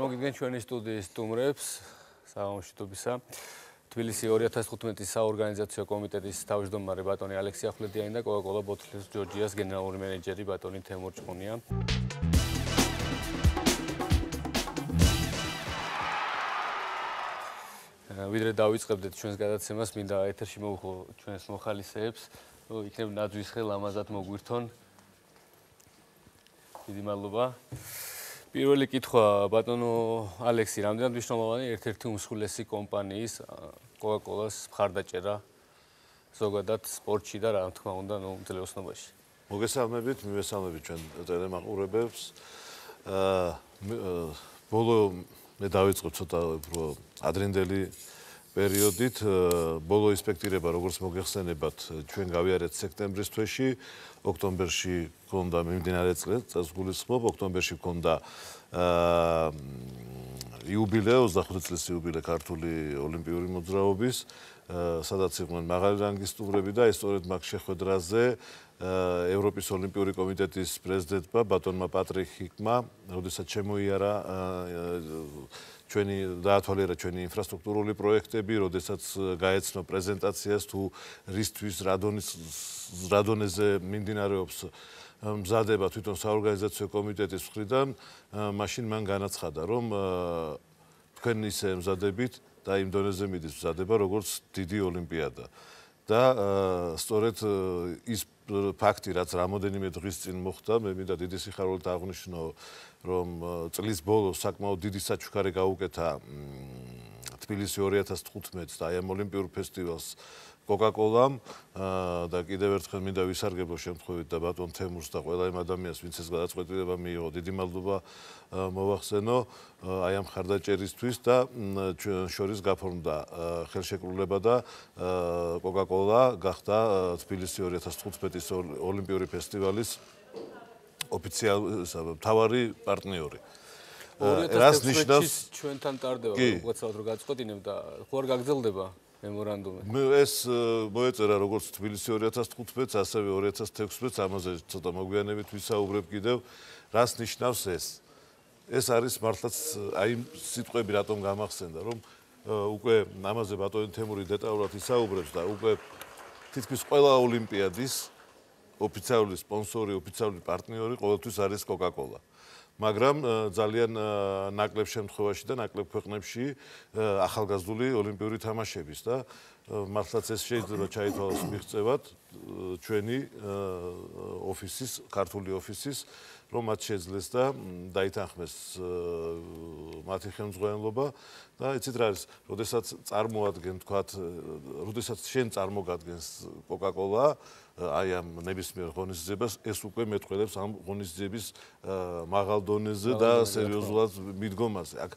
წარმოგიდგენთ ჩვენი სტუდიის სტუმრებს საამშვიდობისა. თბილისი 2015-ის საორგანიზაციო კომიტეტის თავმჯდომარე ბატონი ალექსი ახვლედიანი და კოკაკოლა ბოთლის ჯორჯიას გენერალური მენეჯერი ბატონი თემურ ჭყონია. ვიდრე დავიწყებდეთ ჩვენს გადაცემას, მინდა ეთერში მოვუხო ჩვენს მოხალისეებს, იქნებ ნაძვის ხე ლამაზად მოგვირთონ. დიდი მადლობა. პირველი კითხვა ბატონო ალექსი, რამდენად მნიშვნელოვანი ერთ-ერთი უმსხვილესი კომპანიის კოკაკოლას მხარდაჭერა ზოგადად სპორტში და რა თქმა უნდა, ძლევოსნობაში. მოგესალმებით, მივესალმებით ჩვენ ტელემაყურებელს. ბოლო მე დავიწყებ ცოტა უფრო ადრინდელი პერიოდით, ბოლო ინსპექტირება როგორც მოგეხსენებათ, ჩვენ გავიარეთ სექტემბრის თვეში, ოქტომბერში გქონდა მიმდინარე წელს გულისხმობ, ოქტომბერში გქონდა იუბილეო, 25 წლის იუბილე ქართული ოლიმპიური მოძრაობის, სადაც იყვნენ მაღალი რანგის სტუმრები და ეს სწორედ მაგ შეხვედრაზე ევროპის ოლიმპიური კომიტეტის პრეზიდენტმა ბატონმა პატრიხიკმა, როდესაც შემოიარა დაათვალიერა ჩვენი ინფრასტრუქტურული პროექტები, როდესაც გაეცნო პრეზენტაციას თუ რისთვის რა დონეზე მიმდინარეობს მზადება თვითონ საორგანიზაციო კომიტეტის მხრიდან, მაშინ მან განაცხადა, რომ თქვენ ისე მზადებით და იმ დონეზე მიდის მზადება, როგორც დიდი ოლიმპიადა. და სწორედ ის ფაქტი, რაც რამოდენიმე დღის წინ მოხდა, მე მინდა დიდი სიხარულით აღვნიშნო, რომ წლის ბოლოს საკმაოდ დიდი საჩუქარი გაუკეთა თბილისი 2015 და აი ამ ოლიმპიურ ფესტივალს კოკაკოლამ და კიდევ ერთხელ მინდა ვისარგებლო შემთხვევით და ბატონ თემურს და ყველა იმ ადამიანს, ვინც ეს გადაწყვეტილება მიიღო, დიდი მადლობა მოვახსენო აი ამ მხარდაჭერისთვის და ჩვენ შორის გაფორმდა ხელშეკრულება და კოკაკოლა გახდა თბილისი 2015-ის ოლიმპიური ფესტივალის მთავარი პარტნიორი. რას ნიშნავს ჩვენთან ტარდება, უცბად რომ გაწყვეტინებ და ხო არ გაგრძელდება მემორანდუმი. ეს მოეწერა როგორც თბილისი 2015-ს, ასევე 2016-ს, ამაზე ცოტა მოგვიანებით ვისაუბრებ კიდევ, რას ნიშნავს ეს. ეს არის მართლაც აი სიტყვები რატომ გამახსენდა, რომ უკვე ამაზე ბატონი თემური დეტალურად ისაუბრებს და უკვე თითქმის ყველა ოლიმპიადის ოფიციალური სპონსორი, ოფიციალური პარტნიორი ყოველთვის არის კოკაკოლა. მაგრამ ძალიან ნაკლებ შემთხვევაში და ნაკლებ ქვეყნებში ახალგაზრდული ოლიმპიური თამაშების და მართლაც ეს შეიძლება ჩაითვალოს მიღწევად ჩვენი ოფისის, ქართული ოფისის, რომ მათ შეძლეს და დაითანხმეს მათი ხელმძღვანელობა და იცით რა არის, როდესაც წარმოადგენ თქვათ, როდესაც შენ წარმოგადგენს კოკაკოლა აი ამ ნებისმიერ ღონისძიებას, ეს უკვე მეტყველებს ამ ღონისძიების მაღალ დონეზე და სერიოზულად მიდგომაზე. აქ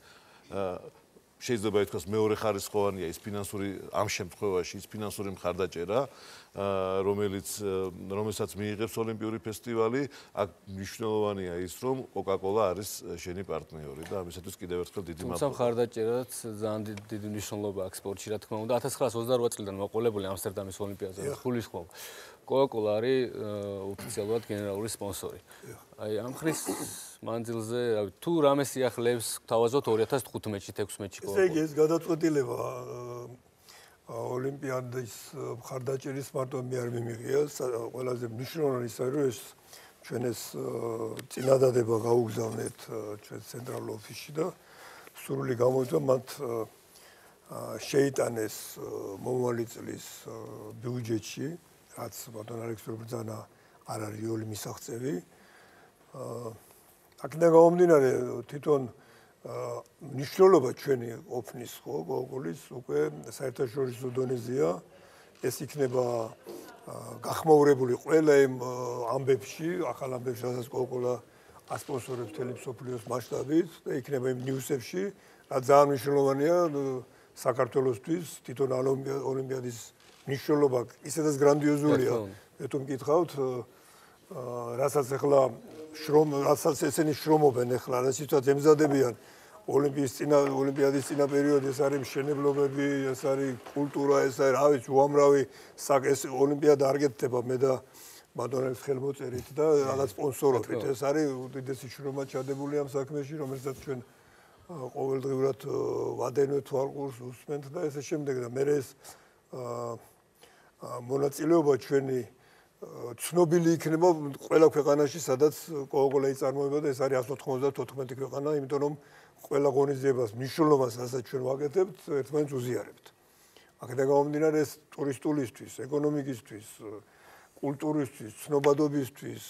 შეიძლება ითქვას მეორე ხარისხოვანია ის ფინანსური ამ შემთხვევაში ის ფინანსური მხარდაჭერა, რომელსაც მიიღებს ოლიმპიური ფესტივალი, აქ მნიშვნელოვანია ის, რომ კოკაკოლა არის შენი პარტნიორი და ამისათვის კიდევ ერთხელ დიდი მადლობა. თუმცა მხარდაჭერაც ძალიან დიდი მნიშვნელობა აქვს სპორტში, რა თქმა უნდა, 1928 წლიდან მოყოლებული ამსტერდამის ოლიმპიადაზე გულისხმობ. კოკაკოლა არის ოფიციალურად გენერალური სპონსორი. აი ამ ხრის მანძილზე, თუ რამე სიახლეებს თავაზობთ 2015-ში, 16-ში კოკაკოლა. ესე იგი ეს გადაწყვეტილება ოლიმპიადის მხარდაჭერის მარტო მე არ მიმიღია, ყველაზე მნიშვნელოვანი ის არის, რომ ეს ჩვენ ეს წინადადება გაუგზავნეთ ჩვენ ცენტრალურ ოფისში და სრული გამოვიდა მათ შეიტანეს მომავალი წლის ბიუჯეტში, რაც ბატონ ალექსი ბრძანა არ არის რეალური მისაღწევი. აქედან გამომდინარე თვითონ მნიშვნელობა ჩვენი ოფნის ხო კოკაკოლის უკვე საერთაშორისო დონეზეა. ეს იქნება გახმაურებული ყველა იმ ამბებში, ახალ ამბებში, რასაც კოკაკოლა ასპონსორებს მთელი მსოფლიოს მასშტაბით და იქნება იმ ნიუსებში, რაც ძალიან მნიშვნელოვანია საქართველოსთვის, თვითონ ოლიმპიადის მნიშვნელობა ისედაც გრანდიოზულია. თუ მკითხავთ, რასაც ახლა რასაც ესენი შრომობენ ახლა, რასაც ემზადებიან ოლიმპიადის წინა პერიოდი, ეს არის მშენებლობები, ეს არის კულტურა, ეს არის რა ვიცი, უამრავი ეს ოლიმპიადა არ გეთდება მე და ბატონების ხელმოწერით და რაღაც სპონსორობით. ეს არის უდიდესი შრომა ჩადებული ამ საქმეში, რომელსაც ჩვენ ყოველდღიურად ვადენვთ თვალყურს უსმენთ და ესე შემდეგ და მე ეს მონაწილეობა ჩვენი ცნობილი იქნება ყველა ქვეყანაში, სადაც Coca-Cola იწარმოება და ეს არის 194 ქვეყანა, იმიტომ რომ ყველა ღონისძიებას მნიშვნელობას, რასაც ჩვენ ვაკეთებთ, ერთმანეთს უზიარებთ. აქედან გამომდინარე ეს ტურისტულისთვის, ეკონომიკისთვის, კულტურისთვის, ცნობადობისთვის,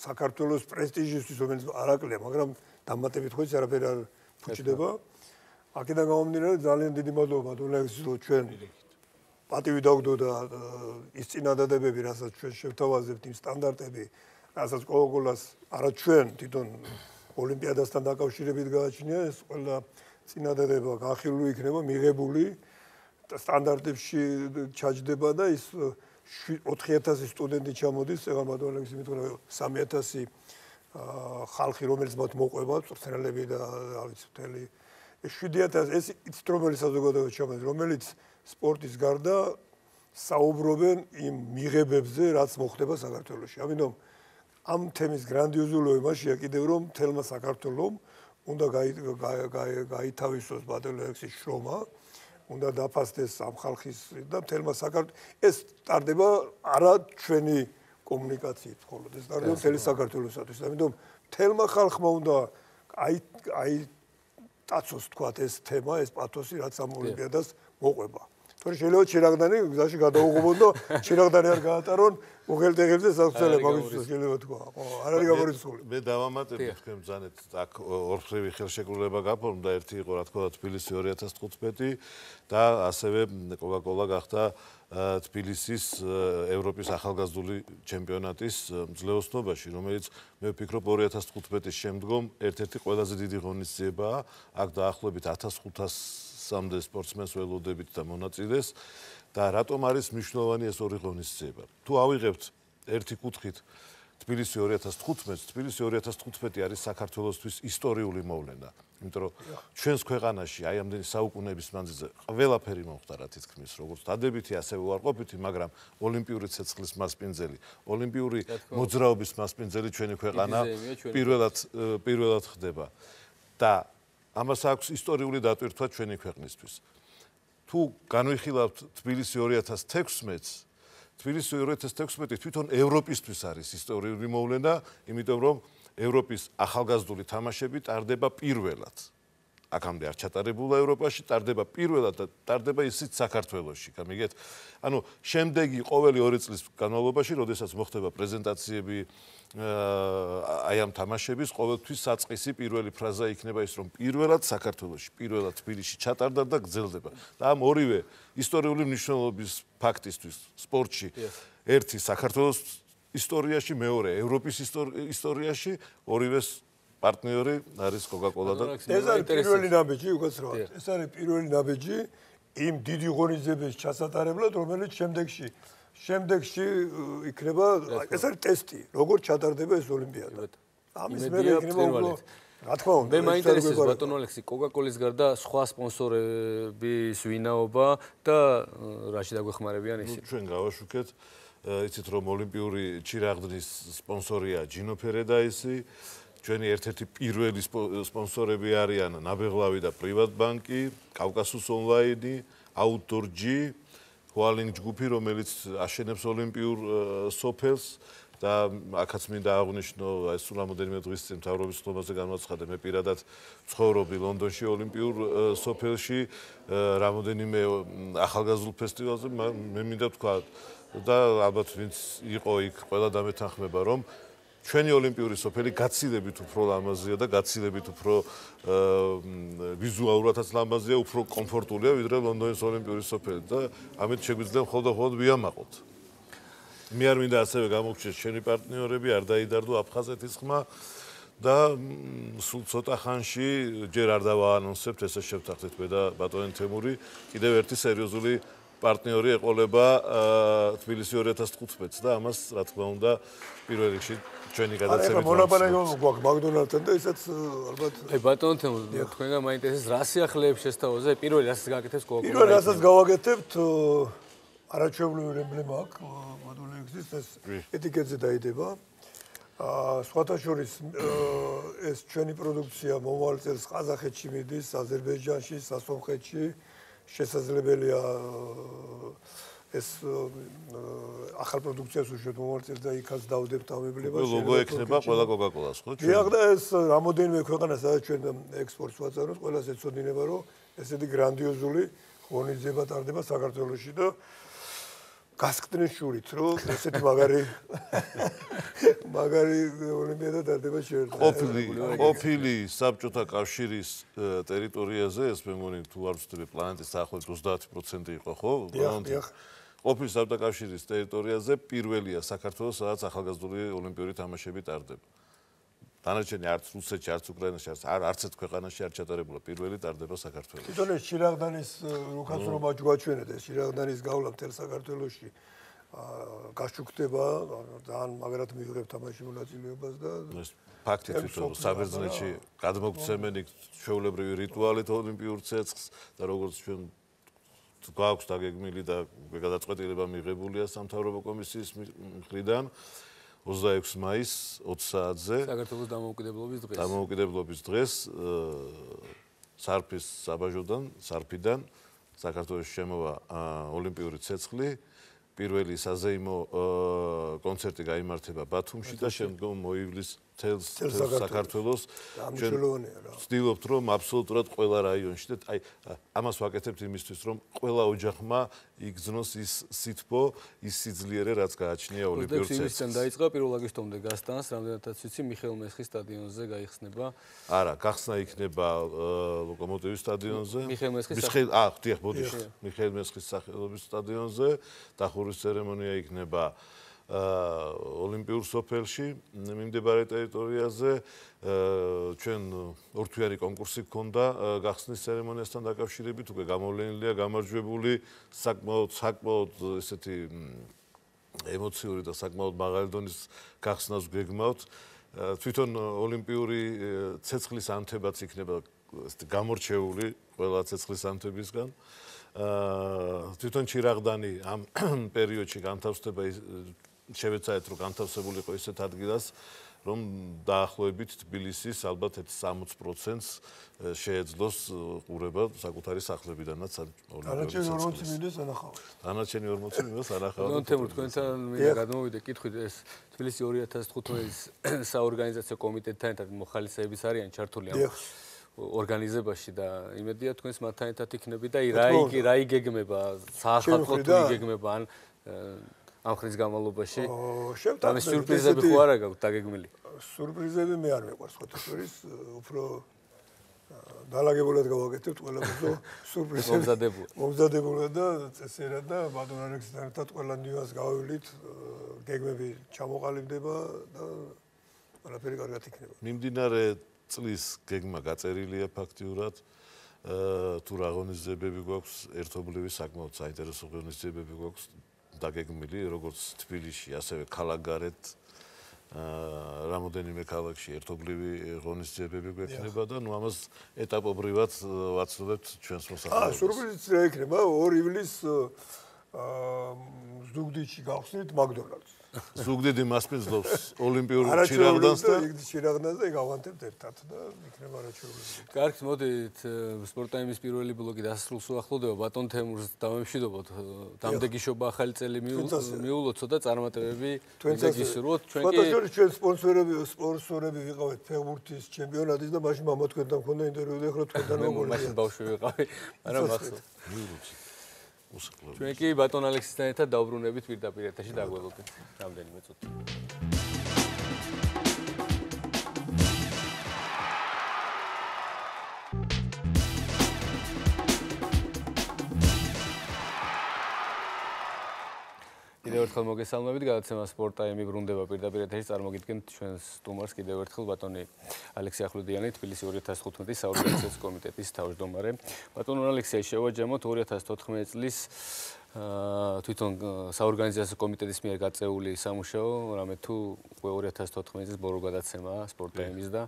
საქართველოს პრესტიჟისთვის, რომელიც არაკლია, მაგრამ დამატებით ხო ის არაფერი არ ფუჭდება. აქედან გამომდინარე ძალიან დიდი მადლობა დონექსის ჩვენ პატივი დაგვდოდა ის წინადადებები, რასაც ჩვენ შევთავაზებთ, იმ სტანდარტები, რასაც Coca-Cola-ს არა ჩვენ თვითონ ოლიმპიადასთან დაკავშირებით გააჩნია, ეს ყველა წინადადება განხილული იქნება, მიღებული სტანდარტებში ჩაჯდება და ის 4000 სტუდენტი ჩამოდის, ეგ მადლობა იმითხრა 3000 ხალხი, რომელიც მათ მოყვება, წვრთნელები და რა ვიცი, მთელი 7000 ეს ინსტრუმენტი საზოგადოება ჩამოდის, რომელიც სპორტის გარდა საუბრობენ იმ მიღებებზე, რაც მოხდება საქართველოში. ამიტომ ამ თემის გრანდიოზულობა იმაშია კიდევ რომ თელმა საქართველოს უნდა გაითავისოს ბატონექსის შრომა, უნდა დაფასდეს ამ ხალხის და თელმა საქართველოს ეს ტარდება არა ჩვენი კომუნიკაციით მხოლოდ, ეს ტარდება მთელი საქართველოსთვის. ამიტომ თელმა ხალხმა უნდა დაცოს თქვათ ეს თემა, ეს პათოსი, რაც ამ ოლიმპიადას მოყვება. თორე შეიძლება ჩირაღდანი გზაში გადაუღობონ და ჩირაღდანი არ გაატარონ უღელტეხებზე საფცელე მაგის შეიძლება თქვა. ხო, არ არის გამორიცხული. მე დავამატებ თქვენ ბრძანეთ აქ ორხრივი ხელშეკრულება გაფორმდა, ერთი იყო რა თქმა უნდა თბილისი 2015 და ასევე Coca-Cola გახდა თბილისის ევროპის ახალგაზრდული ჩემპიონატის ძლევოსნობაში, რომელიც მე ვფიქრობ 2015-ის შემდგომ ერთ-ერთი ყველაზე დიდი ღონისძიებაა. აქ დაახლოებით 1500-მდე სპორტსმენს ველოდებით და მონაწილეს და რატომ არის მნიშვნელოვანი ეს ორი ღონისძიება? თუ ავიღებთ ერთი კუთხით თბილისი 2015, თბილისი 2015 არის საქართველოსთვის ისტორიული მოვლენა. იმიტომ რომ ჩვენს ქვეყანაში აი ამდენი საუკუნეების მანძილზე ყველაფერი მოხდა რა თითქმის, როგორც დადებითი, ასევე უარყოფითი, მაგრამ ოლიმპიური ცეცხლის მასპინძელი, ოლიმპიური მოძრაობის მასპინძელი ჩვენი ქვეყანა პირველად ხდება. და ამას აქვს ისტორიული დატვირთვა ჩვენი ქვეყნისთვის. თუ განვიხილავთ თბილისი 2016-ს, თბილისი 2016 თვითონ ევროპისთვის არის ისტორიული მოვლენა, იმიტომ რომ ევროპის ახალგაზრდული თამაშები ტარდება პირველად. აქამდე არ ჩატარებულა ევროპაში, ტარდება პირველად და ტარდება ისიც საქართველოში. გამიგეთ? ანუ შემდეგი ყოველი 2 წლის განმავლობაში, როდესაც მოხდება პრეზენტაციები აი ამ თამაშების, ყოველთვის საწყისი პირველი ფრაზა იქნება ის, რომ პირველად საქართველოში, პირველად თბილისში ჩატარდა და გრძელდება. და ამ ორივე ისტორიული მნიშვნელობის ფაქტისთვის სპორტში ერთი საქართველოს ისტორიაში, მეორე ევროპის ისტორიაში, ორივეს პარტნიორი არის Coca-Cola და ეს არის პირველი ნაბიჯი, უკაცრავად. ეს არის პირველი ნაბიჯი იმ დიდი ღონისძიების ჩასატარებლად, რომელიც შემდეგში იქნება, ეს არის ტესტი, როგორ ჩატარდება ეს ოლიმპიადა. ამის მერე იქნება უკვე რა თქმა უნდა. მე მაინტერესებს ბატონო ალექსი, Coca-Cola-ის გარდა სხვა სპონსორების ვინაობა და რაში დაგვეხმარებიან ისინი? ჩვენ გავაშუქეთ, იცით რომ ოლიმპიური ჩირაღდნის სპონსორია Gino Paradise, ჩვენი ერთ-ერთი პირველი სპონსორები არიან ნაბეღლავი და პრივატბანკი, კავკასუს ონლაინი, Outdoor G, Hualing ჯგუფი, რომელიც აშენებს ოლიმპიურ სოფელს და აქაც მინდა აღვნიშნო, აი სულ რამოდენიმე დღის წინ მთავრობის ხდომაზე განაცხადე, მე პირადად ცხოვრობდი ლონდონში ოლიმპიურ სოფელში, რამოდენიმე ახალგაზრდულ ფესტივალზე, მე მინდა თქვა და ალბათ ვინც იყო იქ, ყველა დამეთანხმება, რომ ჩვენი ოლიმპიური სოფელი გაცილებით უფრო ლამაზია და გაცილებით უფრო ვიზუალურადაც ლამაზია, უფრო კომფორტულია, ვიდრე ლონდონის ოლიმპიური სოფელი და ამით შეგვიძლია მხოლოდ ვიამაყოთ. მე არ მინდა ასევე გამოგჩეს ჩვენი პარტნიორები, არ დაიდარდო აფხაზეთის ხმა და სულ ცოტა ხანში ჯერ არ დავაანონსებთ, ესე შევთანხმდით მე და ბატონი თემური, კიდევ ერთი სერიოზული პარტნიორი ეყოლება თბილისი 2015-ს და ამას რა თქმა უნდა პირველ რიგში ჩვენი გადაცემით მონაპოლეონი გვაქვს მაგდონალდთან და ისაც ალბათ აი ბატონო თემური, თქვენგან მაინტერესებს რა სიახლეებს შესთავაზე, პირველი რასაც გააკეთებს Coca-Cola? პირველი რასაც გავაკეთებთ არაჩვეულებრივი ემბლემა აქვს ბატონექსის, ეს ეტიკეტზე დაიდება. სხვათა შორის ეს ჩვენი პროდუქცია მომავალ წელს ყაზახეთში მიდის, აზერბაიჯანში, სასონხეთში. შესაძლებელია ეს ახალ პროდუქციას უშუალოდ მომავალ წელს და იქაც დავდებთ ამებლებას. ლოგო ექნება ყველა კოკაკოლას, ხო? დიახ და ეს რამოდენიმე ქვეყანა სადაც ჩვენ ექსპორტს ვაწარმოებთ, ყველას ეცოდინება რომ ესეთი გრანდიოზული ღონისძიება ტარდება საქართველოში და გასკდნეს შურით, რომ ესეთი მაგარი ოლიმპიადა ტარდება შეერთებულ. ყოფილი საბჭოთა კავშირის ტერიტორიაზე, ეს მე მგონი თუ არ ვცდები პლანეტის დაახლოებით 30% იყო, ხო? დიახ. ყოფილი საბჭოთა კავშირის ტერიტორიაზე პირველია საქართველოს, სადაც ახალგაზრდული ოლიმპიური თამაშები ტარდება. დანარჩენი არც რუსეთში, არც უკრაინაში, არც ერთ ქვეყანაში არ ჩატარებულა. პირველი ტარდება საქართველოში. თვითონ ეს შირაღდანის რუხაცრობა ჯგვაჩვენეთ, ეს შირაღდანის გავლა მთელ საქართველოში გაშუქდება, ძალიან მაგრად მიიღებ თამაში მონაწილეობას და ეს ფაქტი თვითონ საბერძნეთში გადმოგცემენ იქ ჩვეულებრივი რიტუალით ოლიმპიურ ცეცხლს და როგორც ჩვენ გვაქვს დაგეგმილი და გადაწყვეტილება მიღებულია სამთავრობო კომისიის მხრიდან 26 მაისს 20 საათზე საქართველოს დამოუკიდებლობის დღეს. დამოუკიდებლობის დღეს სარფის სარფიდან საქართველოს შემოვა ოლიმპიური ცეცხლი. პირველი საზეიმო კონცერტი გაიმართება ბათუმში და შემდგომ მოივლის თელს საქართველოს. ვცდილობთ რომ აბსოლუტურად ყველა რაიონში და აი ამას ვაკეთებთ იმისთვის რომ ყველა ოჯახმა იგრძნოს ის სითბო, ის სიძლიერე რაც გააჩნია ოლიმპიურ ცეცხლს. იმისთან დაიწყო 1 აგვისტომდე გასტანს, რამდენადაც ვიცი მიხეილ მესხის სტადიონზე გაიხსნება. არა, გახსნა იქნება ლოკომოტივის სტადიონზე. მიხეილ მესხის დიახ, ბოდიშ. მიხეილ მესხის სახელობის სტადიონზე. დახურვის ცერემონია იქნება ოლიმპიურ სოფელში მიმდებარე ტერიტორიაზე. ჩვენ ორთვიანი კონკურსი გქონდა გახსნის ცერემონიასთან დაკავშირებით, უკვე გამოვლენილია, გამარჯვებული, საკმაოდ ესეთი ემოციური და საკმაოდ მაღალი დონის გახსნას გეგმავთ. თვითონ ოლიმპიური ცეცხლის ანთებაც იქნება გამორჩეული ყველა ცეცხლის ანთებისგან. თვითონ ჭირაღდანი ამ პერიოდში განთავსდება შევეცადეთ რომ განთავსებულიყო ისეთ ადგილას რომ დაახლოებით თბილისის ალბათ 60%-ს შეეძლოს ყურება საკუთარი სახლებიდანაც დანარჩენი 40 მინუტას ანახავთ. დანარჩენი 40 მინუტას ანახავთ. ნუ თემურ თქვენთან მინდა გადმოვიდე კითხვით ეს თბილისი 2015-ის საორგანიზაციო კომიტეტთან ერთად მოხალისეების არიან ჩართული ამ ორგანიზებაში და იმედია თქვენს მათთან ერთად იქნები და რა იგეგმება საახალწლო თუ იგეგმება ან ამ ხნის განმავლობაში ამ სიურპრიზები ხო არა გაქვთ დაგეგმილი? სიურპრიზები მე არ მეყვარს ხოთა შორის, უფრო დალაგებულად გავაკეთებთ ყველაფერს სიურპრიზები მომზადებულად და წესიერად და ბატონ ალექსთან ერთად ყველა ნიუანს გავავლით, გეგმები ჩამოყალიბდება და ყველაფერი კარგად იქნება. მიმდინარე წლის გეგმა გაწერილია ფაქტიურად. თუ რა ღონისძიებები გვაქვს, ერთობლივი საკმაოდ საინტერესო ღონისძიებები გვაქვს დაგეგმილი, როგორც თბილისში, ასევე ქალაქგარეთ რამოდენიმე ქალაქში ერთობლივი ღონისძიებები გვექნება და ნუ ამას ეტაპობრივად ვაცნობთ ჩვენს მოსახლეობას. სურპრიზიც რა იქნება 2 ივლისს ზუგდიდში გავხსნით მაკდონალდს. ზუგდიდი მასპინძლობს ოლიმპიურ ჭირაღდანსთან. ჭირაღდანზე გავანთებთ ერთად და იქნება არაჩვეულებრივი. კარგით, მოდით სპორტაიმის პირველი ბლოგი დასრულს უახლოვდება. ბატონ თემურს დავემშვიდობოთ. დამდეგიშობა ახალი წელი მიულოცო და წარმატებები მიგისურვოთ. ჩვენ ჩვენ სპონსორები ვიყავით ფეხბურთის ჩემპიონატის და მაშინ მამა თქვენთან მქონდა ინტერვიუ და ეხლა თქვენთან მოგონია. მაშინ ბავშვი ვიყავი. მაგრამ ახლა ჩვენ კი ბატონ ალექსისთან ერთად დავბრუნებით პირდაპირ ეთერში დაგველოდეთ რამდენიმე წუთი. კიდევ ერთხელ მოგესალმებით, გადაცემა სპორტაიმი ბრუნდება პირდაპირ ეთერში, წარმოგიდგენთ ჩვენს სტუმარს კიდევ ერთხელ ბატონი ალექსი ახვლედიანი, თბილისი 2015-ის საორგანიზაციო კომიტეტის თავმჯდომარე. ბატონ ალექსი, შევაჯამოთ 2014 წლის თვითონ საორგანიზაციო კომიტეტის მიერ გაწეული სამუშაო, რამე თუ 2014 წლის ბოლო გადაცემაა სპორტაიმის და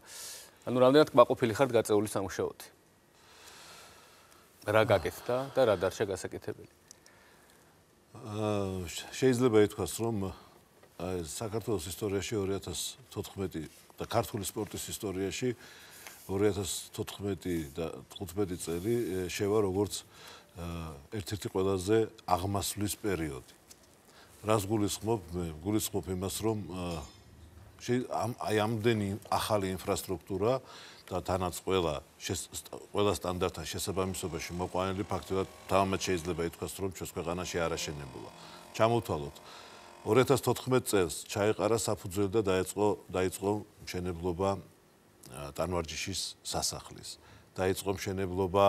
ანუ რამდენად კმაყოფილი ხართ გაწეული სამუშაოთი? რა გაკეთდა და რა დარჩა გასაკეთებელი? შეიძლება ითქვას, რომ საქართველოს ისტორიაში 2014 და ქართული სპორტის ისტორიაში 2014 და 15 წელი შევა როგორც ერთ-ერთი ყველაზე აღმასვლის პერიოდი. რას გულისხმობ? მე გულისხმობ იმას, რომ ამდენი ახალი ინფრასტრუქტურა და თანაც ყველა სტანდარტთან შესაბამისობაში მოყვანილი ფაქტობრივად თამამად შეიძლება ითქვას, რომ ჩვენს ქვეყანაში არ აშენებულა. ჩამოვთვალოთ 2014 წელს ჩაეყარა საფუძველი და დაიწყო მშენებლობა ტანვარჯიშის სასახლის. დაიწყო მშენებლობა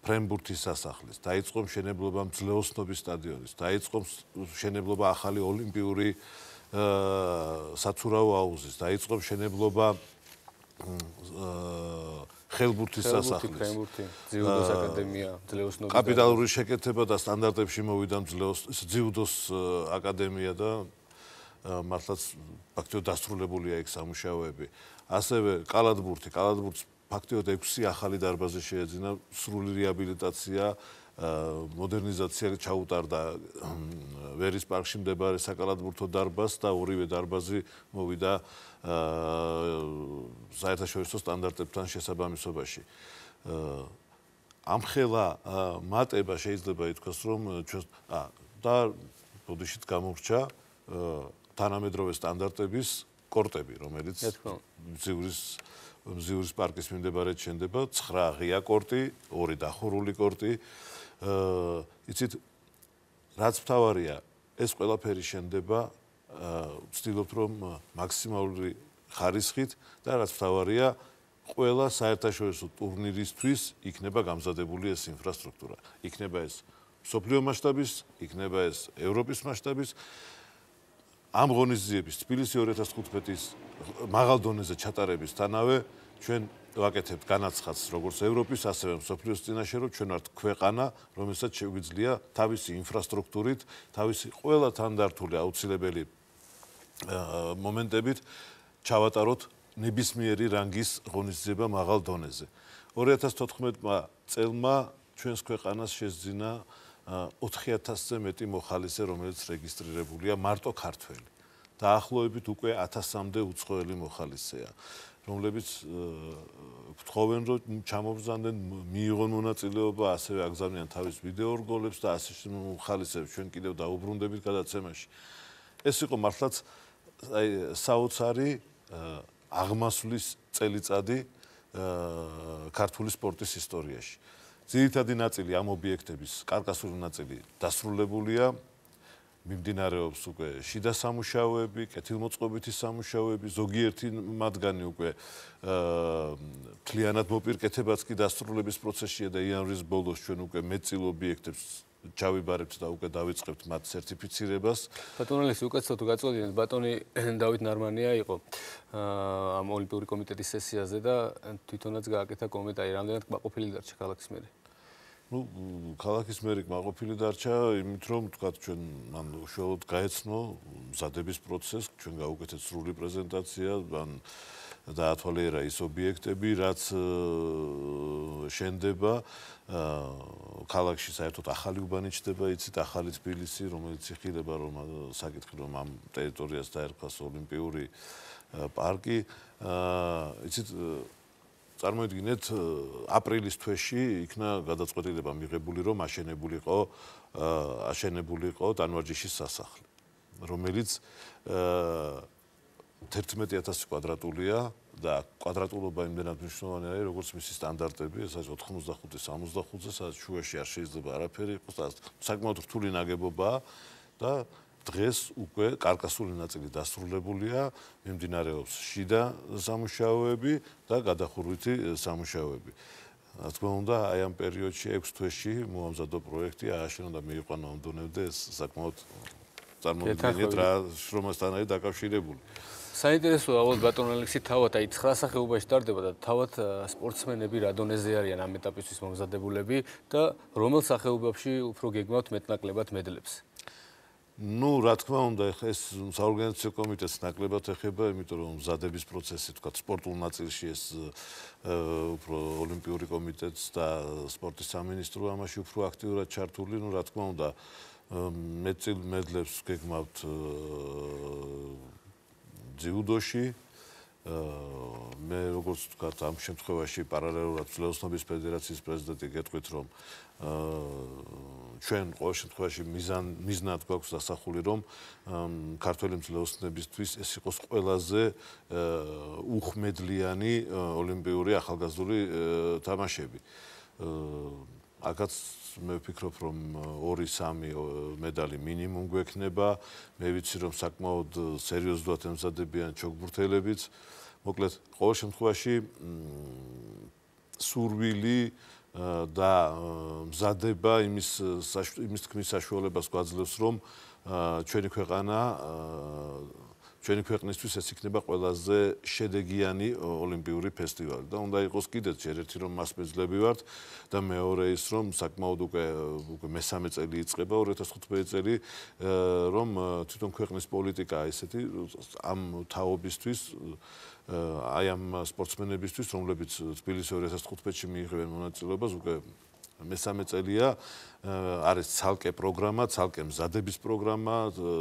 ფრენბურთის სასახლის, დაიწყო მშენებლობა მძლეოსნობის სტადიონის, დაიწყო მშენებლობა ახალი ოლიმპიური საცურაო აუზის, დაიწყო მშენებლობა ხელბურთის სასახლის. ძიუდოს აკადემია, მძლეოსნობის კაპიტალური შეკეთება და სტანდარტებში მოვიდა ძიუდოს აკადემია და მართლაც ფაქტობრივად დასრულებულია იქ სამუშაოები. ასევე კალათბურთს ფაქტობრივად 6 ახალი დარბაზი შეეძინა, სრული რეაბილიტაცია, მოდერნიზაცია ჩაუტარდა ვერის პარკში მდებარე საკალათბურთო დარბაზს და ორივე დარბაზი მოვიდა საერთაშორისო სტანდარტებთან შესაბამისობაში. ამხელა მატება შეიძლება ითქვას, რომ და ბოდიშით გამორჩა თანამედროვე სტანდარტების კორტები, რომელიც მზივრის პარკის მიმდებარედ შენდება 9 ღია კორტი, 2 დახურული კორტი. იცით, რაც მთავარია, ეს ყველაფერი შენდება, ვცდილობთ, რომ მაქსიმალური ხარისხით და რაც მთავარია, ყველა საერთაშორისო ტურნირისთვის იქნება გამზადებული ეს ინფრასტრუქტურა. იქნება ეს მსოფლიო მასშტაბის, იქნება ეს ევროპის მასშტაბის. ამ ღონისძიების თბილისი 2015-ის მაღალ დონეზე ჩატარებისთანავე ჩვენ ვაკეთებთ განაცხადს როგორც ევროპის, ასევე მსოფლიოს წინაშე, რომ ჩვენ ვართ ქვეყანა, რომელსაც შეგვიძლია თავისი ინფრასტრუქტურით, თავისი ყველა თანდართული აუცილებელი მომენტებით ჩავატაროთ ნებისმიერი რანგის ღონისძიება მაღალ დონეზე. 2014 წელმა ჩვენს ქვეყანას შესძინა 4000-ზე მეტი მოხალისე, რომელიც რეგისტრირებულია მარტო ქართველი. დაახლოებით უკვე 1000-მდე უცხოელი მოხალისეა, რომლებიც გთხოვენ, რომ ჩამობრძანდნენ, მიიღონ მონაწილეობა, ასევე აგზავნიან თავის ვიდეო რგოლებს და ასე მოხალისეებს ჩვენ კიდევ დაუბრუნდებით გადაცემაში. ეს იყო მართლაც საოცარი აღმასვლის წელიწადი ქართული სპორტის ისტორიაში. ძირითადი ნაწილი ამ ობიექტების, კარკასული ნაწილი დასრულებულია, მიმდინარეობს უკვე შიდა სამუშაოები, კეთილმოწყობითი სამუშაოები, ზოგიერთი მათგანი უკვე მთლიანად მოპირკეთებაც კი დასრულების პროცესშია და იანვრის ბოლოს ჩვენ უკვე მეტწილ ობიექტებს ჩავიბარებთ და უკვე დავიწყებთ მათ სერტიფიცირებას. ბატონო ლექსი, უკაცრავად გაწოდით, ბატონი დავით ნარმანია იყო ამ ოლიმპიური კომიტეტის სესიაზე და თვითონაც გააკეთა კომენტარი, რამდენად კმაყოფილი დარჩა ქალაქის მერი. ქალაქის მერი კმაყოფილი დარჩა, იმით რომ თქვა ჩვენ მან უშუალოდ გაეცნო მზადების პროცესს, ჩვენ გავუკეთეთ სრული პრეზენტაცია, მან დაათვალიერა ის ობიექტები, რაც შენდება ქალაქში საერთოდ ახალი უბანი ჩდება, იცით, ახალი თბილისი, რომელიც იხილება, რომ საკითხი რომ ამ ტერიტორიას დაერქვას ოლიმპიური პარკი, იცით, წარმოიდგინეთ, აპრილის თვეში იქნა გადაწყვეტილება მიღებული, რომ აშენებულიყო ტანვარჯიშის სასახლე, რომელიც 11000 კვადრატულია და კვადრატულობა იმდენად მნიშვნელოვანი არის, როგორც მისი სტანდარტები, ეს არის 85-65-ზე, სადაც შუაში არ შეიძლება არაფერი იყოს, საკმაოდ რთული ნაგებობაა და დღეს უკვე კარკასული ნაწილი დასრულებულია, მიმდინარეობს შიდა სამუშაოები და გადახურვითი სამუშაოები. რა თქმა უნდა, აი ამ პერიოდში 6 თვეში მოამზადო პროექტი, ააშენა და მიიყვანა ამ დონემდე, ეს საკმაოდ წარმოვიდგინეთ რა შრომასთან არის დაკავშირებული. საინტერესოა, ალბათ ბატონ ალექსი, თავად აი 9 სახეობაში ტარდება და თავად სპორტსმენები რა დონეზე არიან ამ ეტაპისთვის მომზადებულები და რომელ სახეობებში უფრო გეგმავთ მეტნაკლებად მედლებს? რა თქმა უნდა, ეს საორგანიზაციო კომიტეტს ნაკლებად ეხება, იმიტომ რომ მზადების პროცესი, თქვა, სპორტულ ნაწილში ეს უფრო ოლიმპიური კომიტეტს და სპორტის სამინისტრო ამაში უფრო აქტიურად ჩართული, რა თქმა უნდა, მეტწილ მედლებს გეგმავთ ძიუდოში. მე როგორც ვთქვათ, ამ შემთხვევაში პარალელურად ძლევოსნობის ფედერაციის პრეზიდენტი გეტყვით, რომ ჩვენ ყოველ შემთხვევაში მიზნად გვაქვს დასახული, რომ ქართველი ძლევოსნებისთვის ეს იყოს ყველაზე უხმედლიანი ოლიმპიური ახალგაზრდული თამაშები. აქაც მე ვფიქრობ, რომ 2-3 მედალი მინიმუმ გვექნება. მე ვიცი, რომ საკმაოდ სერიოზულად ემზადებიან ჩოგბურთელებიც. მოკლედ, ყოველ შემთხვევაში სურვილი და მზადება იმის თქმის საშუალებას გვაძლევს, რომ ჩვენი ქვეყნისთვის ეს იქნება ყველაზე შედეგიანი ოლიმპიური ფესტივალი და უნდა იყოს კიდეც ერთ-ერთი რომ მასპინძლები ვართ და მეორე ის რომ საკმაოდ უკვე მესამე წელი იწყება 2015 წელი რომ თვითონ ქვეყნის პოლიტიკა ესეთი ამ თაობისთვის აი ამ სპორტსმენებისთვის რომლებიც თბილისში 2015-ში მიიღებენ მონაწილეობას უკვე მესამე წელია არის ცალკე პროგრამა, ცალკე მზადების პროგრამა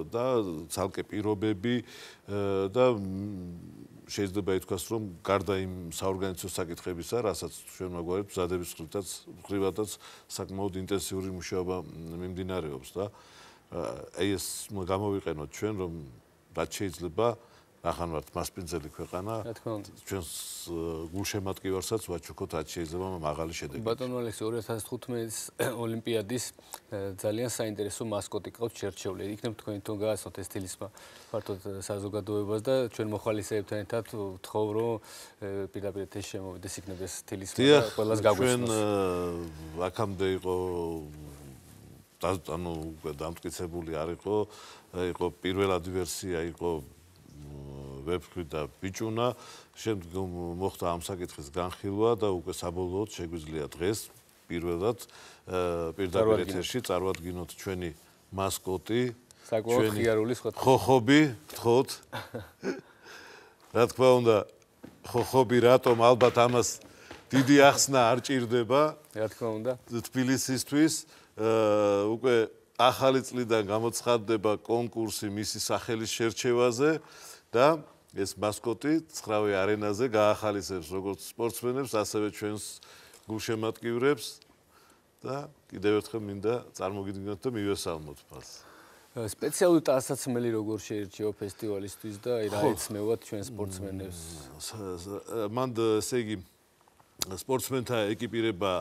და ცალკე პირობები და შეიძლება ითქვას, რომ გარდა იმ საორგანიზაციო საკითხებისა, რასაც ჩვენ მაგვარებს მზადების მხრივადაც საკმაოდ ინტენსიური მუშაობა მიმდინარეობს და აი ეს გამოვიყენოთ ჩვენ, რომ რაც შეიძლება ახან ვართ მასპინძელი ქვეყანა ჩვენს გულშემატკივარსაც ვაჩუქოთ რაც შეიძლება მაღალი შედეგი. ბატონო ალექსი 2015-ის ოლიმპიადის ძალიან საინტერესო მასკოტი ყავთ შერჩეული. იქნებ თქვენ თვითონ გააცნოთ ეს თილისმა ფართოდ საზოგადოებას და ჩვენ მოხალისეებთან ერთად ვთხოვ რომ პირდაპირ ეს შემოვიდეს იქნებ ეს თილისმა და ყველას გაგვეცნოს. ჩვენ აქამდე იყო ანუ დამტკიცებული არ იყო პირველადი ვერსია იყო ვებქვი და ბიჭუნა, შემდგომ მოხდა ამ საკითხის განხილვა და უკვე საბოლოოდ შეგვიძლია დღეს პირველად პირდაპირ ეთერში წარვადგინოთ ჩვენი მასკოტი, ჩვენი ხოხობი, გთხოვთ. რა თქმა უნდა, ხოხობი რატომ ალბათ ამას დიდი ახსნა არ ჭირდება. რა თქმა უნდა. თბილისისთვის უკვე ახალი წლიდან გამოცხადდება კონკურსი მისი სახელის შერჩევაზე და ეს მასკოტი 9-ვე არენაზე გაახალისებს როგორც სპორტსმენებს, ასევე ჩვენს გულშემატკივრებს და კიდევ ერთხელ მინდა წარმოგიდგინოთ და მივესალმოთ მას. სპეციალური ტანსაცმელი როგორ შეირჩევა ფესტივალისთვის და რა ეცნევათ ჩვენ სპორტსმენებს? მან ესე იგი სპორტსმენთა ეკიპირება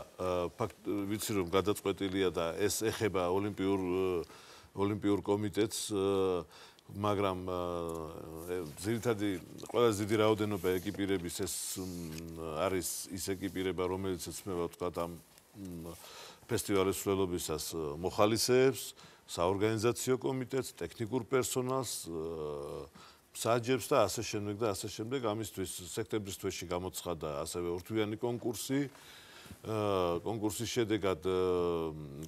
ვიცი რომ გადაწყვეტილია და ეს ეხება ოლიმპიურ კომიტეტს მაგრამ ძირითადი ყველაზე დიდი რაოდენობა ეკიპირების ეს არის ის ეკიპირება რომელიც ეცნობა თქვა ამ ფესტივალის მსვლელობისას მოხალისეებს, საორგანიზაციო კომიტეტს, ტექნიკურ პერსონალს, საჯებს და ასე შემდეგ ამისთვის სექტემბრის თვეში გამოცხადა ასევე ორთვიანი კონკურსი. კონკურსის შედეგად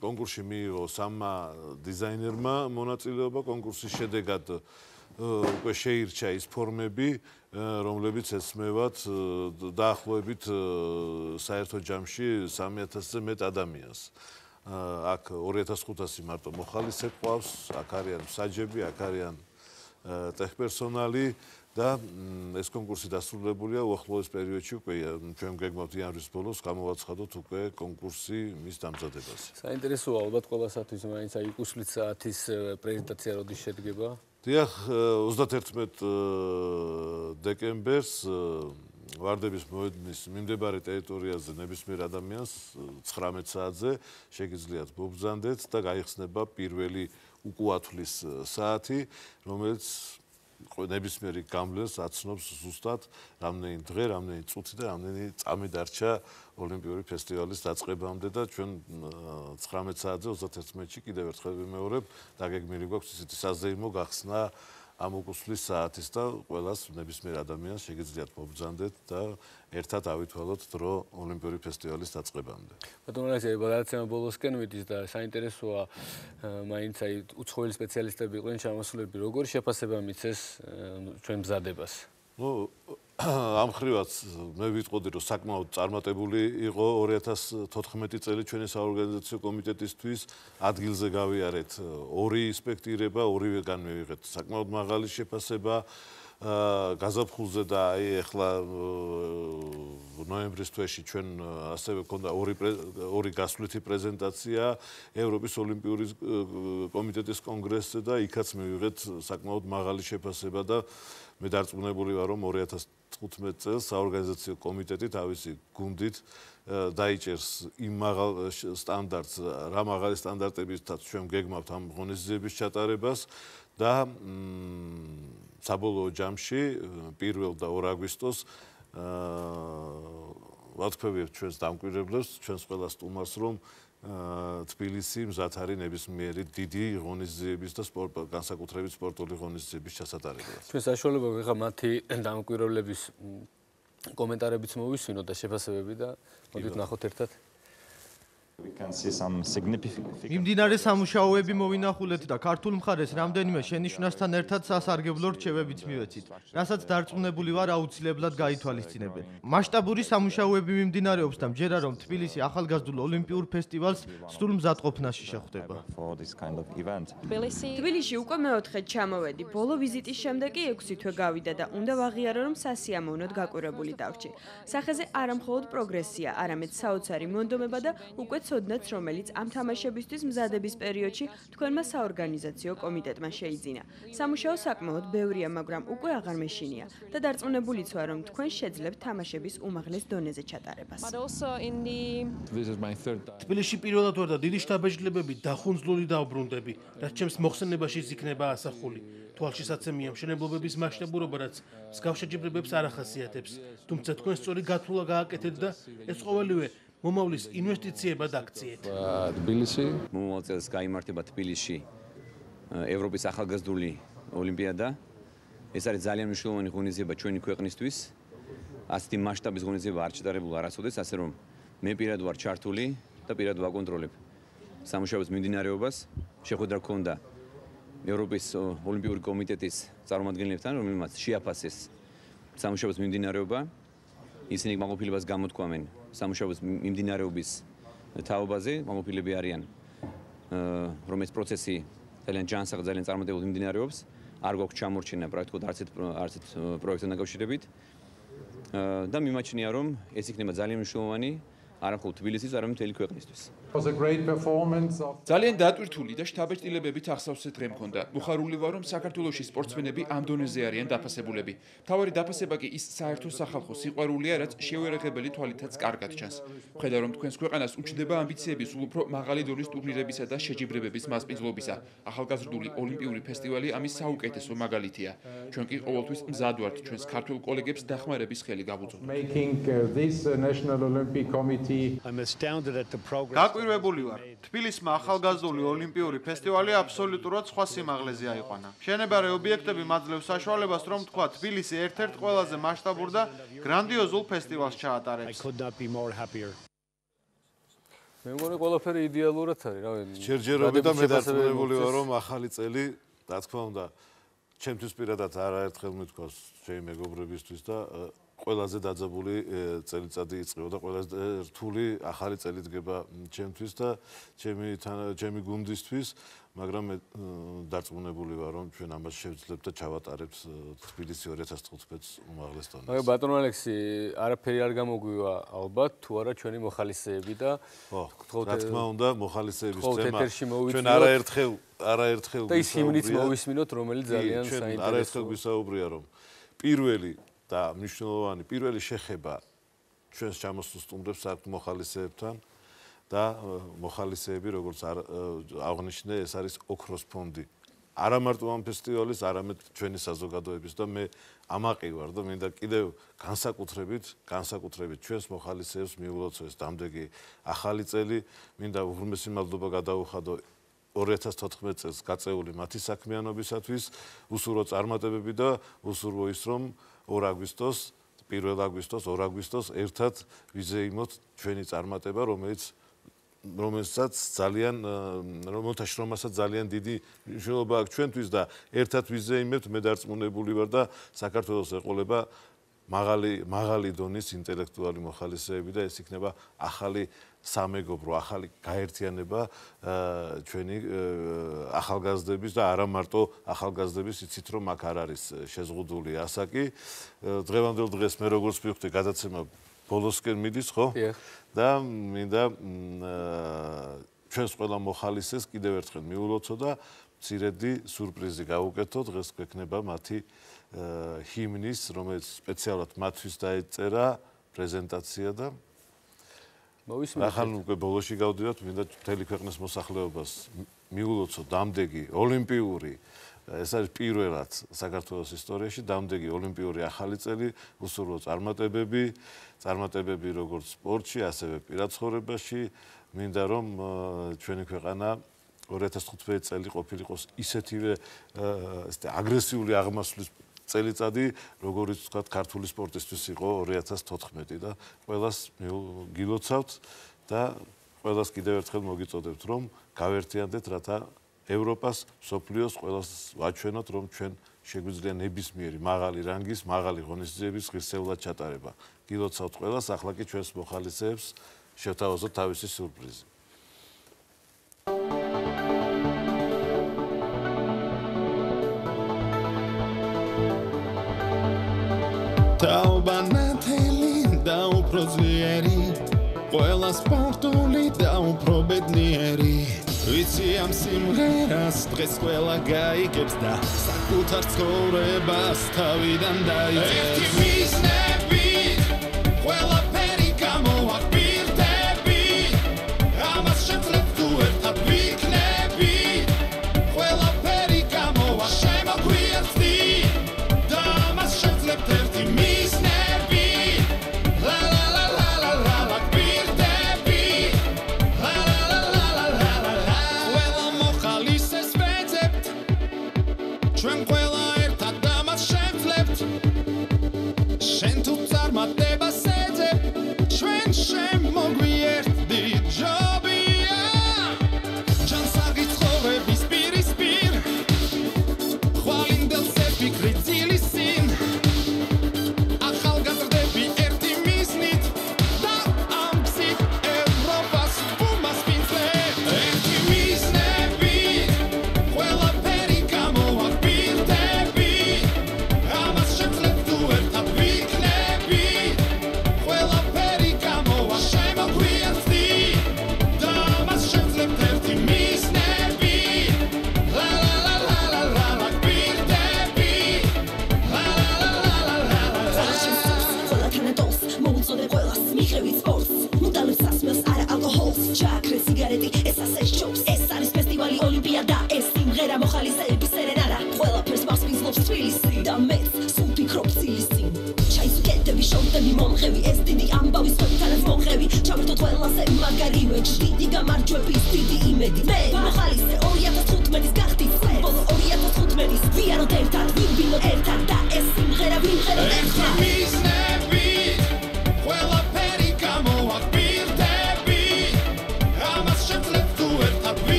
კონკურსში მიიღო 3 დიზაინერმა მონაწილეობა კონკურსის შედეგად უკვე შეირჩა ის ფორმები რომლებიც ეცმევათ დაახლოებით საერთო ჯამში 3000-ზე მეტ ადამიანს აქ 2500 მარტო მოხალისე ყავს აქ არიან საჯები აქ არიან ტექპერსონალი და ეს კონკურსი დასრულებულია უახლოეს პერიოდში უკვე ჩვენ გეგმავთ იანვრის ბოლოს გამოვაცხადოთ უკვე კონკურსი მის დამზადებას. საინტერესოა ალბათ ყველასათვის მაინც აი უსვლით საათის პრეზენტაცია როდის შედგება? დიახ 31 დეკემბერს ვარდების მოედნის მიმდებარე ტერიტორიაზე ნებისმიერ ადამიანს 19 საათზე შეგიძლიათ მობრძანდეთ და გაიხსნება პირველი უკუათვლის საათი რომელიც ნებისმიერი გამლეს აცნობს ზუსტად რამდენი დღე, რამდენი წუთი და რამდენი წამი დარჩა ოლიმპიური ფესტივალის დაწყებამდე და ჩვენ 19 საათზე 31-ში კიდევ ერთხელ ვიმეორებ დაგეგმილი გვაქვს ისეთი საზეიმო გახსნა ამ უკუსვლის საათის და ყველას ნებისმიერ ადამიანს შეგიძლიათ მობრძანდეთ და ერთად ავითვალოთ დრო ოლიმპიური ფესტივალის დაწყებამდე. ბატონო ალექსი, გადაცემა ბოლოსკენ ვიდის და საინტერესოა მაინც აი უცხოელი სპეციალისტები იყვნენ ჩამოსულები, როგორი შეფასება მიცეს ჩვენ მზადებას? ამ ხრივაც მე ვიტყოდი რომ საკმაოდ წარმატებული იყო 2014 წელი ჩვენი საორგანიზაციო კომიტეტისთვის ადგილზე გავიარეთ ორი ინსპექტირება, ორივეგან მივიღეთ საკმაოდ მაღალი შეფასება გაზაფხულზე და აი ახლა ნოემბრის თვეში ჩვენ ასევე გქონდა ორი გასვლითი პრეზენტაცია ევროპის ოლიმპიური კომიტეტის კონგრესზე და იქაც მივიღეთ საკმაოდ მაღალი შეფასება და მე დარწმუნებული ვარ რომ 2015 წელს საორგანიზაციო კომიტეტი თავისი გუნდით დაიჭერს იმ მაღალ სტანდარტს რა მაღალი სტანდარტებითაც ჩვენ გეგმავთ ამ ღონისძიების ჩატარებას და საბოლოო ჯამში 1 და 2 აგვისტოს ვათქვევიებთ ჩვენს დამკვირვებლებს, ჩვენს ყველა სტუმარს, რომ თბილისი მზად არის ნებისმიერი დიდი ღონისძიების და განსაკუთრებით სპორტული ღონისძიების ჩასატარებლად. ჩვენ საშუალება ვიღა მათი დამკვირვებლების კომენტარებიც მოვისმინოთ და შეფასებები და მოდით ნახოთ ერთად. მიმდინარე სამუშაოები მოვინახულეთ და ქართულ მხარეს რამდენიმე შენიშვნასთან ერთად სასარგებლო რჩევებიც მივეცით, რასაც დარწმუნებული ვარ აუცილებლად გაითვალისწინებენ. მასშტაბური სამუშაოები მიმდინარეობს და მჯერა რომ თბილისი ახალგაზრდულ ოლიმპიურ ფესტივალს სრულ მზადყოფნაში შეხვდება. თბილისში უკვე მეოთხედ ჩამოვედი. ბოლო ვიზიტის შემდეგ კი 6 თვე გავიდა და უნდა ვაღიარო რომ სასიამოვნოდ გაკვირვებული დავრჩი. სახეზე არა მხოლოდ პროგრესია, არამედ საოცარი მონდომება და უკვე ცოდნაც რომელიც ამ თამაშებისთვის მზადების პერიოდში თქვენმა საორგანიზაციო კომიტეტმა შეიძინა. სამუშაო საკმაოდ ბევრია, მაგრამ უკვე აღარ მეშინია და დარწმუნებულიც ვარ, რომ თქვენ შეძლებთ თამაშების უმაღლეს დონეზე ჩატარებას. თბილისში პირველად ვარ და დიდი შთაბეჭდილებები დახუნძლული დავბრუნდები, რაც ჩემს მოხსენებაში იქნება ასახული. თვალშისაცემია მშენებლობების მასშტაბურობა, რაც მსგავს შეჯიბრებებს არ ახასიათებს, თუმცა თქვენ სწორი გათვლა გააკეთეთ და ეს ყოველივე მომავლის ინვესტიციებად აქციეთ. თბილისი მომავალ წელს გაიმართება თბილისში ევროპის ახალგაზრდული ოლიმპიადა. ეს არის ძალიან მნიშვნელოვანი ღონისძიება ჩვენი ქვეყნისთვის. ასეთი მასშტაბის ღონისძიება არ ჩატარებულა არასოდეს, ასე რომ მე პირად ვარ ჩართული და პირად ვაკონტროლებ სამუშაოს მიმდინარეობას. შეხვედრა გქონდა ევროპის ოლიმპიური კომიტეტის წარმომადგენლებთან, რომელმაც შეაფასეს სამუშაოს მიმდინარეობა. ისინი კმაყოფილებას გამოთქვამენ სამუშაოს მიმდინარეობის თაობაზე, კმაყოფილები არიან, რომ ეს პროცესი ძალიან ჯანსაღ, ძალიან წარმატებულად მიმდინარეობს. არ გვაქვს ჩამორჩენა პრაქტიკულად არცეთ პროექტთან დაკავშირებით და მიმაჩნია, რომ ეს იქნება ძალიან მნიშვნელოვანი არა მხოლოდ თბილისის, არამედ მთელი ქვეყნისთვის. ძალიან დატვირთული და შთაბეჭდილებებით ახსავსე დღე მქონდა. მოხარული ვარ, რომ საქართველოში სპორტსმენები ამ დონეზე არიან დაფასებულები. მთავარი დაფასება კი ის საერთო სახალხო სიყვარულია, რაც შეუერაღებელი თვალითაც კარგად ჩანს. ვხედავ, რომ თქვენს ქვეყანას უჩნდება ამბიციები სულ უფრო მაღალი დონის ტურნირებისა და შეჯიბრებების მასპინძლობისა. ახალგაზრდული ოლიმპიური ფესტივალი ამის საუკეთესო მაგალითია. ჩვენ კი ყოველთვის მზად ვართ ჩვენს ქართველ კოლეგებს დახმარების ხელი გავუწოდოთ. გაკვირვებული ვარ. თბილისმა ახალგაზრდული ოლიმპიური ფესტივალი აბსოლუტურად სხვა სიმაღლეზე აიყვანა. მშენებარე ობიექტები მაძლევს საშუალებას, რომ თქვა თბილისი ერთ-ერთ ყველაზე მასშტაბურ და გრანდიოზულ ფესტივალს ჩაატარებს. მე მგონი ყველაფერი იდეალურად არის, რა ვიცი. ჯერჯერობით და მე დარწმუნებული ვარ, რომ ახალი წელი, რა თქმა უნდა, ჩემთვის პირადად არაერთხელ მithქვას ჩემი მეგობრებისთვის და ყველაზე დაძაბული წელიწადი იწყება და ყველაზე რთული ახალი წელი დგება ჩემთვის და ჩემი გუნდისთვის, მაგრამ მე დარწმუნებული ვარ, რომ ჩვენ ამას შევძლებთ და ჩავატარებთ თბილისი 2015-ს უმაღლეს დონეზე. აი ბატონო ალექსი, არაფერი არ გამოგვივა ალბათ, თუ არა ჩვენი მოხალისეები და რა თქმა უნდა, მოხალისეების თემა ჩვენ არაერთხელ და ის ჰიმნიც მოვისმინოთ, რომელიც ძალიან საინტერესოა. არაერთხელ გვისაუბრია, რომ პირველი და მნიშვნელოვანი პირველი შეხება ჩვენს ჩამოსულ სტუმრებს აქვთ მოხალისეებთან და მოხალისეები როგორც აღნიშნე ეს არის ოქროს ფონდი. არა მარტო ამ ფესტივალის, არამედ ჩვენი საზოგადოების და მე ამაყი ვარ და მინდა კიდევ განსაკუთრებით ჩვენს მოხალისეებს მიულოცო ეს დამდეგი ახალი წელი, მინდა უღრმესი მადლობა გადაუხადო 2014 წელს გაწეული მათი საქმიანობისათვის, უსურვო წარმატებები და უსურვო ის რომ 2 აგვისტოს, 1 აგვისტოს, 2 აგვისტოს ერთად ვიზეიმოთ ჩვენი წარმატება, რომელსაც ძალიან დიდი მნიშვნელობა აქვს ჩვენთვის და ერთად ვიზეიმებთ, მე დარწმუნებული ვარ და საქართველოს ეყოლება მაღალი დონის ინტელექტუალი მოხალისეები და ეს იქნება ახალი სამეგობრო, ახალი გაერთიანება ჩვენი ახალგაზრდების და არა მარტო ახალგაზრდების, იცით რომ აქ არ არის შეზღუდული ასაკი. დღევანდელ დღეს მე როგორც მივხვდი, გადაცემა ბოლოსკენ მიდის, ხო? და მინდა ჩვენს ყველა მოხალისეს კიდევ ერთხელ მიულოცო და მცირედი სურპრიზი გავუკეთო. დღეს გვექნება მათი ჰიმნის, რომელიც სპეციალურად მათთვის დაეწერა პრეზენტაცია და ახლა უკვე ბოლოში გავდივართ, მინდა მთელი ქვეყნის მოსახლეობას მიულოცო დამდეგი ოლიმპიური, ეს არის პირველად საქართველოს ისტორიაში დამდეგი ოლიმპიური ახალი წელი, უსურვო წარმატებები როგორც სპორტში, ასევე პირად ცხოვრებაში. მინდა რომ ჩვენი ქვეყანა 2015 წელი ყოფილიყოს ისეთივე აგრესიული აღმასვლის წელიწადი, როგორც ვთქვათ, ქართული სპორტისთვის იყო 2014 და ყველას გილოცავთ და ყველას კიდევ ერთხელ მოგიწოდებთ, რომ გავერთიანდეთ, რათა ევროპას, მსოფლიოს ყველას ვაჩვენოთ, რომ ჩვენ შეგვიძლია ნებისმიერი მაღალი რანგის, მაღალი ღონისძიების ღირსეულად ჩატარება. გილოცავთ ყველას, ახლა კი ჩვენს მოხალისეებს შევთავაზოთ თავისი სურპრიზი. Taobanateli da უფრო ძლიერი ყველა სპორტული და უფრო ბედნიერი ვიცი ამ სიმღერას დღეს ყველა გაიგებს და საკუთარ ცხოვრებას თავიდან დაიწყებს ერთი მიზნებით ყველაფერი გამოვაკვირდები ამას შეძლებ თუ ერთად ვიქნები ყველაფერი გამოვაშემოგვიერთდი და ამას შეძლებ ერთი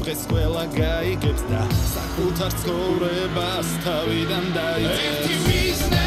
დღეს ყველა გაიგებს და საკუთარ ცხოვრებას თავიდან დაიწყებს ერთი მიზნები